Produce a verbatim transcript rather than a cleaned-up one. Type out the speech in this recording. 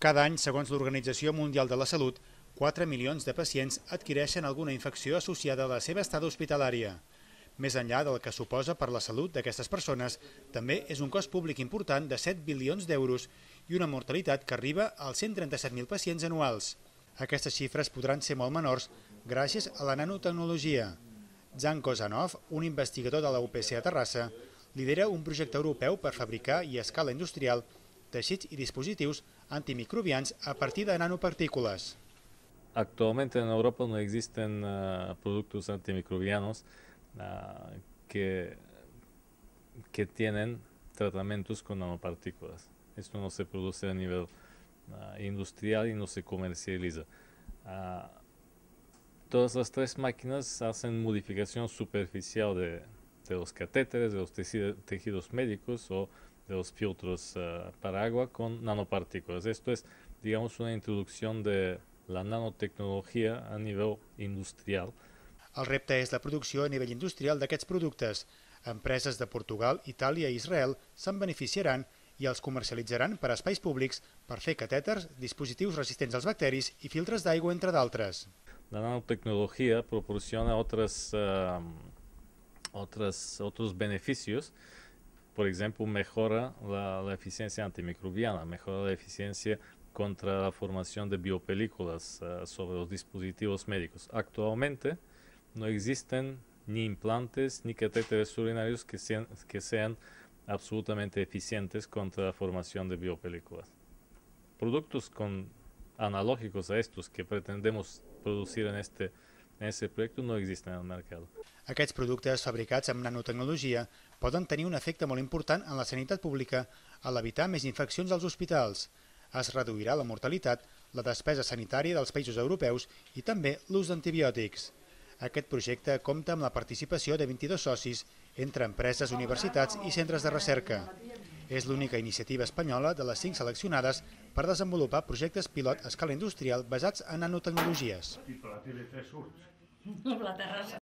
Cada any, segons l'Organització Mundial de la Salut, quatre milions de pacients adquireixen alguna infecció associada a la seva estada hospitalària. Més enllà del que suposa per la salut d'aquestes persones, també és un cost públic important de set bilions d'euros i una mortalitat que arriba als cent trenta-set mil pacients anuals. Aquestes xifres podran ser molt menors gràcies a la nanotecnologia. Jan Kozanov, un investigador de la U P C a Terrassa, lidera un projecte europeu per fabricar i a escala industrial teixits i dispositius antimicrobians a partir de nanopartículas. Actualmente en Europa no existen uh, productos antimicrobianos uh, que, que tienen tratamientos con nanopartículas. Esto no se produce a nivel uh, industrial y no se comercializa. Uh, todas las tres máquinas hacen modificación superficial de, de los catéteres, de los tejidos médicos o de los filtros uh, para agua con nanopartículas. Esto es, digamos, una introducción de la nanotecnologia a nivell industrial. El repte és la producció a nivell industrial d'aquests productes. Empreses de Portugal, Itàlia i Israel se'n beneficiaran i els comercialitzaran per a espais públics per fer catèters, dispositius resistents als bacteris i filtres d'aigua, entre d'altres. La nanotecnología proporciona otras, uh, otras, otros beneficios. Por ejemplo, mejora la, la eficiencia antimicrobiana, mejora la eficiencia contra la formación de biopelículas uh, sobre los dispositivos médicos. Actualmente no existen ni implantes ni catéteres urinarios que sean, que sean absolutamente eficientes contra la formación de biopelículas. Productos con, analógicos a estos que pretendemos producir en este, en este proyecto no existen en el mercado. Aquests productes fabricats amb nanotecnologia poden tenir un efecte molt important en la sanitat pública a l'evitar més infeccions als hospitals. Es reduirà la mortalitat, la despesa sanitària dels països europeus i també l'ús d'antibiòtics. Aquest projecte compta amb la participació de vint-i-dos socis entre empreses, universitats i centres de recerca. És l'única iniciativa espanyola de les cinc seleccionades per desenvolupar projectes pilot a escala industrial basats en nanotecnologies.